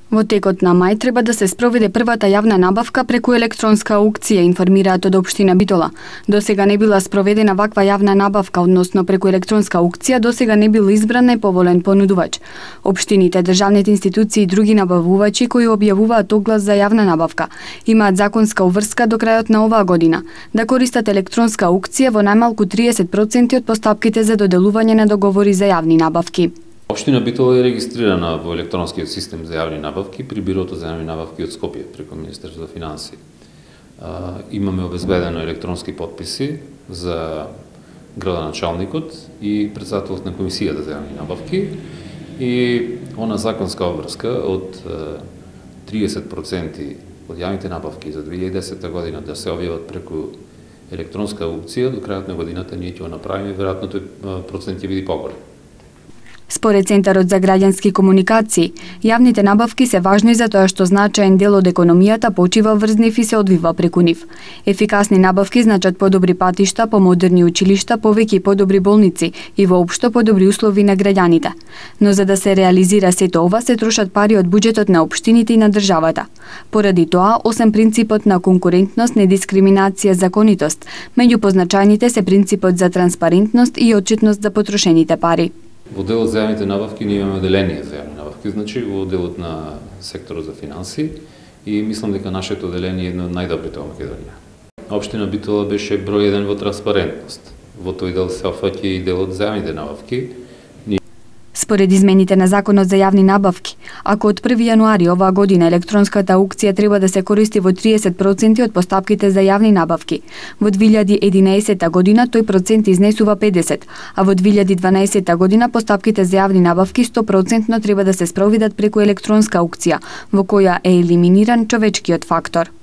Во текот на мај треба да се спроведе првата јавна набавка преку електронска аукција, информираат од општина Битола. Досега не била спроведена ваква јавна набавка, односно преку електронска аукција досега не бил избран најповолен понудувач. Општините, државните институции и други набавувачи кои објавуваат оглас за јавна набавка имаат законска обврска до крајот на оваа година да користат електронска аукција во најмалку 30% од постапките за доделување на договори за јавни набавки. Општина Битола е регистрирана во електронскиот систем за јавни набавки при Бирото за јавни набавки од Скопје преку Министерството за финансии. Имаме обезбедено електронски потписи за градоначалникот и председателот на комисијата за јавни набавки и она законска обврска од 30% од јавните набавки за 2010 година да се објават преку електронска аукција до крајот на годината ние ќе го направиме, веројатно тој процент ќе биде поголем. Според Центарот за граѓански комуникации, јавните набавки се важни за тоа што значаен дел од економијата почива врз нив и се одвива преку нив. Ефикасни набавки значат подобри патишта, помодерни училишта, повеќе и подобри болници и воопшто подобри услови на граѓаните. Но за да се реализира сето ова се трошат пари од буџетот на општините и на државата. Поради тоа, освен принципот на конкурентност, недискриминација, законитост, меѓу позначајните се принципот за транспарентност и отчетност за потрошените пари. Во делот за јавните набавки ние имаме оделение за јавни набавки, значи во делот на секторот за финансии и мислам дека нашето оделение е едно од најдобрите во Македонија. Општина Битола беше број 1 во транспарентност. Во тој дел се опфаќа и делот за јавните набавки. Според измените на Законот за јавни набавки, ако од 1 јануари оваа година електронската аукција треба да се користи во 30% од постапките за јавни набавки, во 2011 година тој процент изнесува 50%, а во 2012 година постапките за јавни набавки 100% треба да се спроведат преку електронска аукција, во која е елиминиран човечкиот фактор.